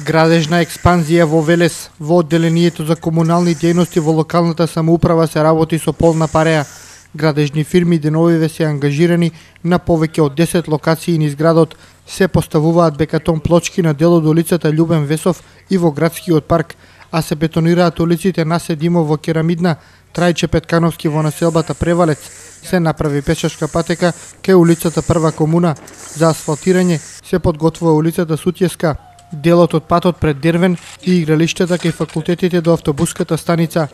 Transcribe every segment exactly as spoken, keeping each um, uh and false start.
Градежна експанзија во Велес. Во одделението за комунални дејности во локалната самоуправа се работи со полна пареа. Градежни фирми деновиве се ангажирани на повеќе од десет локации низ градот. Се поставуваат бекатон плочки на дел од улицата Љубен Весов и во градскиот парк, а се бетонираат улиците Насе Димов во Керамидна, Трајче Петкановски во населбата Превалец. Се направи пешачка патека кај улицата Прва комуна. За асфалтирање се подготвува улицата Сутјеска, делот од патот пред Дервен и игралиштата кај факултетите до автобуската станица.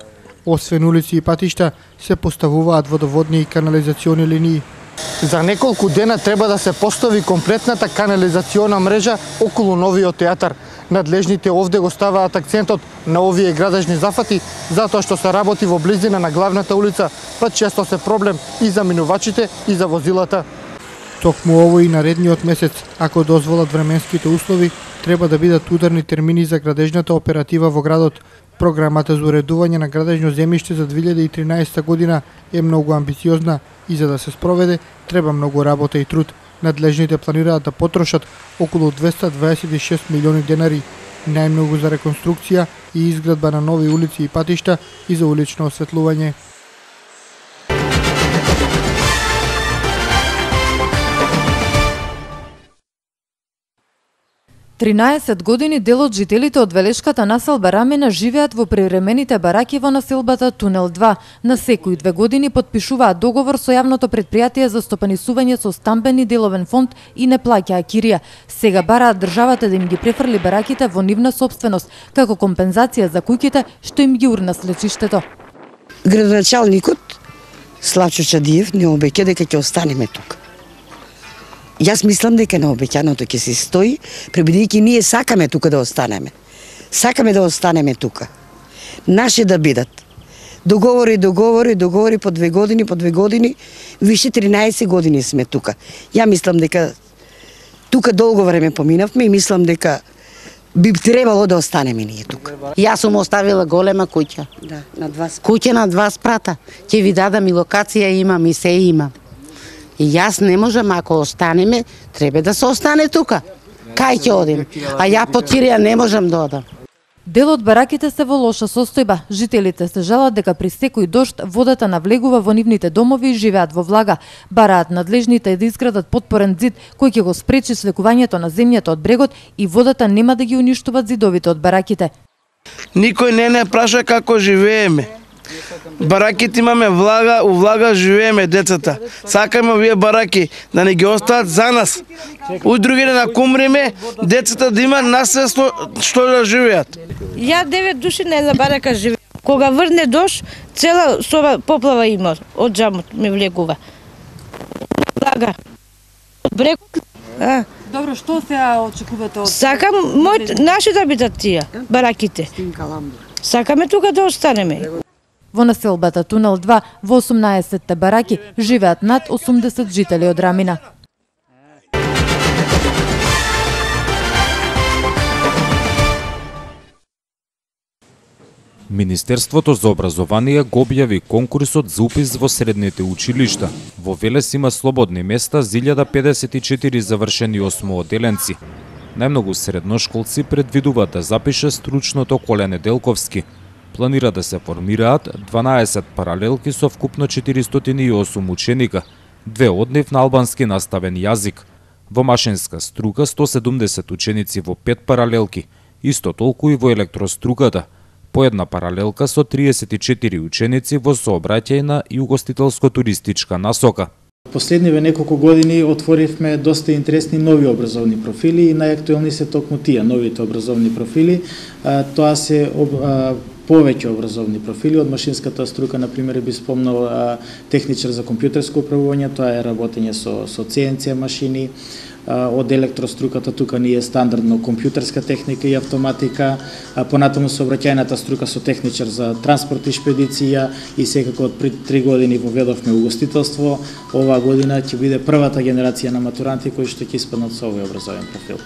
Освен улици и патишта, се поставуваат водоводни и канализациони линии. За неколку дена треба да се постави комплетната канализациона мрежа околу новиот театар. Надлежните овде го ставаат акцентот на овие градежни зафати, затоа што се работи во близина на главната улица, па често се проблем и за минувачите и за возилата. Токму овој и наредниот месец, ако дозволат временските услови, треба да бидат ударни термини за градежната оператива во градот. Програмата за уредување на градежно земјиште за две илјади и тринаесетта година е многу амбициозна и за да се спроведе треба многу работа и труд. Надлежните планираат да потрошат околу двеста дваесет и шест милиони денари, најмногу за реконструкција и изградба на нови улици и патишта и за улично осветлување. тринаесет години дел од жителите од Велешката населба Рамена живеат во привремените бараки во населбата Тунел два. На секои две години потпишуваат договор со јавното претпријатие за стопанисување со стамбени деловен фонд и не плаќаа кирија. Сега бараат државата да им ги префрли бараките во нивна собственост, како компензација за куќите што им ги урна слечиштето. Градоначалникот Славчо Чадиев не обеќе дека ќе останеме тука. Јас мислам дека на обеќаното ќе се стои, пребидејќи ние сакаме тука да останеме. Сакаме да останеме тука. Наши да бидат. Договори, договори, договори по две години, по две години, више тринаесет години сме тука. Ја мислам дека тука долго време поминавме и мислам дека би требало да останеме ние тука. Јас сум оставила голема куќа. Да, на два спрата. Куќа на два спрата. Ќе ви дадам и локација имам и се имам. И јас не можам, ако останеме, треба да се остане тука. Кај ќе одим? А ја по кирија не можам да одам. Дел од бараките се во лоша состојба. Жителите се жалат дека при секој дожд водата навлегува во нивните домови и живеат во влага. Бараат надлежните да изградат подпорен зид кој ќе го спречи слекувањето на земјата од брегот и водата нема да ги уништуваат зидовите од бараките. Никој не не праша како живееме. Бараките имаме влага, у влага живееме децата. Сакаме овие бараки да не ги остават за нас. У другите да кумриме, децата да имаат наследство што да живеат. Ја девет души на една барака живеам. Кога врне дожд, цела соба поплава има од џамот ме влегува. Влага. Брегот. А. Добро, што сега очекувате од? Сакам мој наши да бидат тие бараките. Сакаме тука да останеме. Во населбата Тунел два во осумнаесетте бараки живеат над осумдесет жители од Рамина. Министерството за образование го објави конкурсот за упис во средните училишта. Во Велес има слободни места за илјада педесет и четири завршени осмооделенци. Најмногу средношколци предвидуваат да запише стручното Коле Неделковски. Планира да се формираат дванаесет паралелки со вкупно четиристотини и осум ученика, две од нив на албански наставен јазик. Во машинска струка сто седумдесет ученици во пет паралелки, исто толку и во електроструката, по една паралелка со триесет и четири ученици во сообраќајна и угостителско-туристичка насока. Последниве неколку години отворивме доста интересни нови образовни профили и најактуелни се токму тие новите образовни профили. Тоа се повеќе образовни профили од машинската струка, на пример би спомнал техничар за компјутерско управување, тоа е работење со со Си Ен Си машини. Од електроструката тука ни е стандардно компјутерска техника и автоматика, понатаму сообраќајната струка со техничар за транспорт и шпедиција и секако од пред три години воведовме угостителство. Оваа година ќе биде првата генерација на матуранти кои што ќе испаднат со овој образовен профил.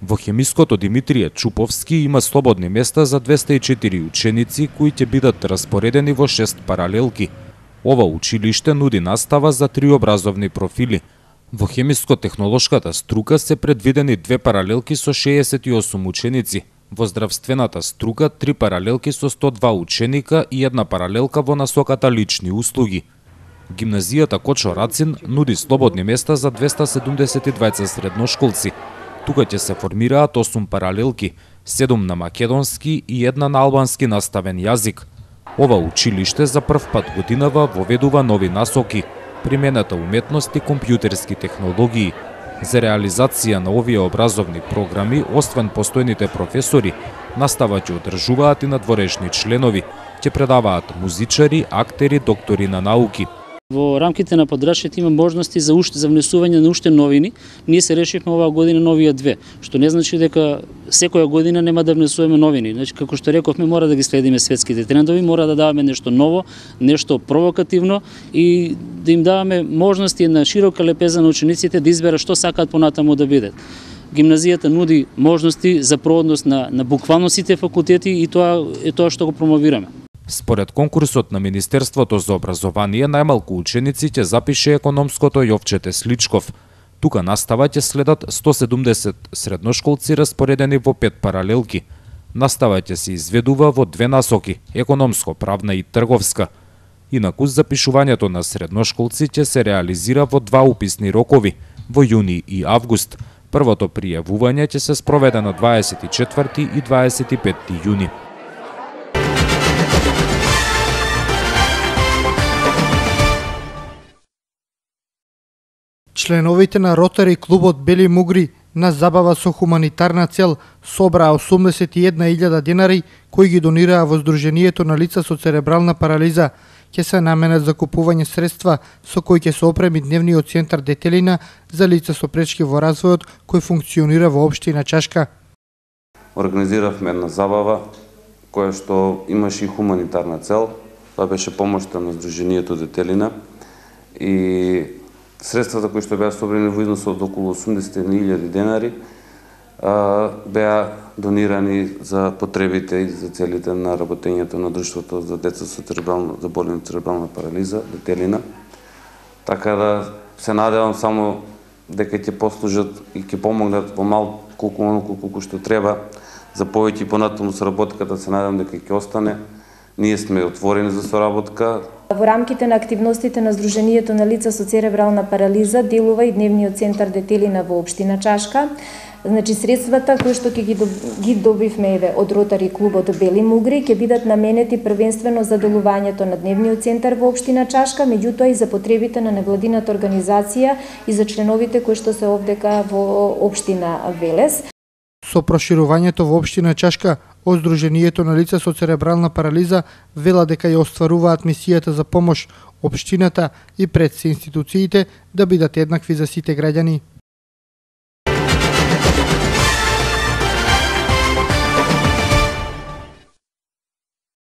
Во хемиското Димитрije Чуповски има слободни места за двеста и четири ученици кои ќе бидат распоредени во шест паралелки. Ова училиште нуди настава за три образовни профили: Во хемиско-технолошката струка се предвидени две паралелки со шеесет и осум ученици, во здравствената струка три паралелки со сто два ученика и една паралелка во насоката лични услуги. Гимназијата Кочо Рацин нуди слободни места за двеста седумдесет и двајца средношколци. Тука ќе се формираат осум паралелки, седум на македонски и една на албански наставен јазик. Ова училиште за прв пат годинава воведува нови насоки, примената уметност и компјутерски технологии. За реализација на овие образовни програми, освен постојните професори, настава ќе одржуваат и надворешни членови, ќе предаваат музичари, актери, доктори на науки. Во рамките на подрачјето има можности за уште за внесување на уште новини. Ние се решивме оваа година новија две, што не значи дека секоја година нема да внесуваме новини. Значи, како што рековме, мора да ги следиме светските трендови, мора да даваме нешто ново, нешто провокативно и да им даваме можности на широка лепеза на учениците да изберат што сакаат понатаму да бидат. Гимназијата нуди можности за проводност на, на буквално сите факултети и тоа е тоа што го промовираме. Според конкурсот на Министерството за образование, најмалку ученици ќе запише економското Јовче Тесличков. Тука настава ќе следат сто седумдесет средношколци распоредени во пет паралелки. Настава ќе се изведува во две насоки – економско, правна и трговска. Инаку запишувањето на средношколци ќе се реализира во два уписни рокови – во јуни и август. Првото пријавување ќе се спроведе на дваесет и четврти и дваесет и петти јуни. Членовите на Ротари клубот Бели Мугри на забава со хуманитарна цел собраа осумдесет и една илјада денари кои ги донираа во Сдруженијето на лица со церебрална парализа. Ќе се наменат за купување средства со кои ќе се опреми дневниот центар Детелина за лица со пречки во развојот кој функционира во општина Чашка. Организиравме една забава која што имаше и хуманитарна цел. Тоа беше помошта на Сдруженијето Детелина и средствата кои што беа собрани во износ од околу осумдесет и една илјади денари беа донирани за потребите и за целите на работењето на Друштвото за деца со церебрална заболена церебрална парализа Детелина. Така да се надевам само дека ќе послужат и ќе помогнат во малку колку колку што треба за повеќе и понатаму соработката. Се надевам дека ќе остане. Ние сме отворени за соработка. Во рамките на активностите на Сдруженијето на лица со церебрална парализа делува и дневниот центар Детелина во општина Чашка. Значи средствата кои што ќе ги, доб... ги добивме еве од Ротари клубот Бели Мугри ќе бидат наменети првенствено за делувањето на дневниот центар во општина Чашка, меѓутоа и за потребите на невладината организација и за членовите кои што се овдека во општина Велес. Со проширувањето во општина Чашка, од Сдруженијето на лица со церебрална парализа вела дека ја остваруваат мисијата за помош општината и пред се институциите да бидат еднакви за сите граѓани.